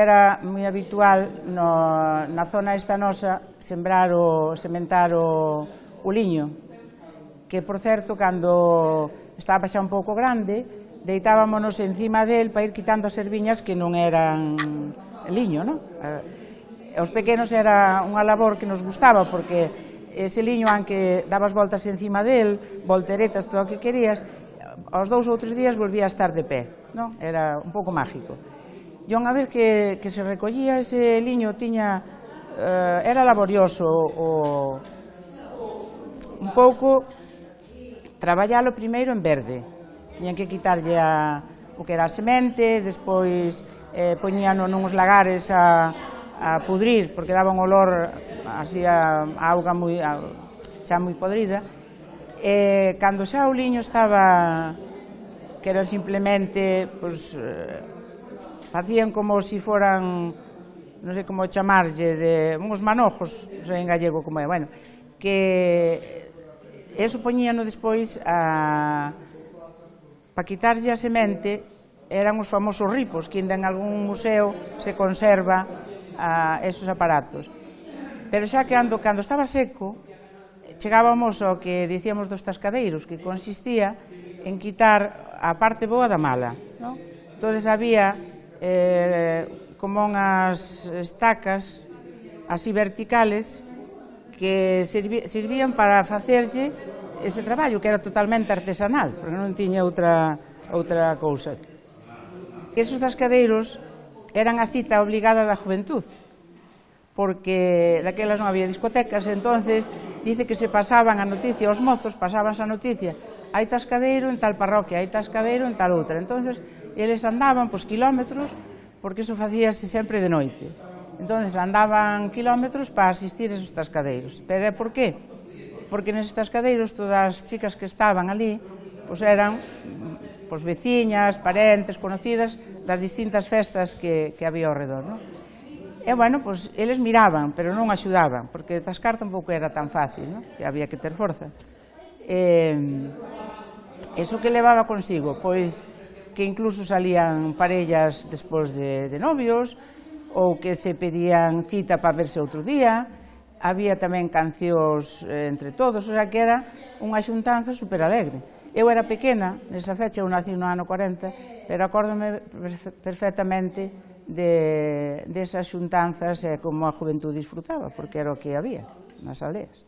Era moi habitual na zona esta nosa sementar o liño, que, por certo, cando estaba xa un pouco grande, deitábamonos encima del para ir quitando as erviñas que non eran liño, non? Os pequenos era unha labor que nos gustaba, porque ese liño, aunque dabas voltas encima del, volteretas, todo o que querías, aos 2 ou 3 días volvía a estar de pé, non? Era un pouco mágico. E unha vez que se recollía ese liño, era laborioso un pouco traballalo primeiro en verde. Tiñan que quitarlle o que era a semente, despois poñíano nuns lagares a pudrir, porque daba un olor así a auga xa moi podrida. Cando xa o liño estaba, que era simplemente, facían como se foran, non sei como chamarlle, de uns manojos, non sei en gallego como é, bueno, que eso poñíano despois para quitarlle a semente, eran os famosos ripos, que ainda en algún museo se conserva esos aparatos. Pero xa que cando estaba seco, chegábamos ao que dicíamos dos tascadeiros, que consistía en quitar a parte boa da mala, non? Entón había como unhas estacas así verticales que servían para facerlle ese traballo, que era totalmente artesanal, porque non tiña outra cousa. Esos tascadeiros eran a cita obligada da juventud, porque daquelas non había discotecas, entonces dice que se pasaban a noticia, os mozos pasábanse a noticia, hai tascadeiro en tal parroquia, hai tascadeiro en tal outra, entonces eles andaban kilómetros, porque iso facíase sempre de noite. Entonces andaban kilómetros para asistir a esos tascadeiros. Pero por qué? Porque neses tascadeiros todas as chicas que estaban ali eran veciñas, parentes, conocidas das distintas festas que había ao redor, non? E, bueno, eles miraban, pero non axudaban, porque tascar tampouco era tan fácil, non? Que había que ter forza. Iso que levaba consigo? Pois que incluso salían parellas despois de novios, ou que se pedían cita para verse outro día, había tamén cancións entre todos, o sea que era unha xuntanza super alegre. Eu era pequena, nesa fecha, eu nací no ano 40, pero acórdome perfectamente desas xuntanzas e como a juventud disfrutaba, porque era o que había nas aldeas.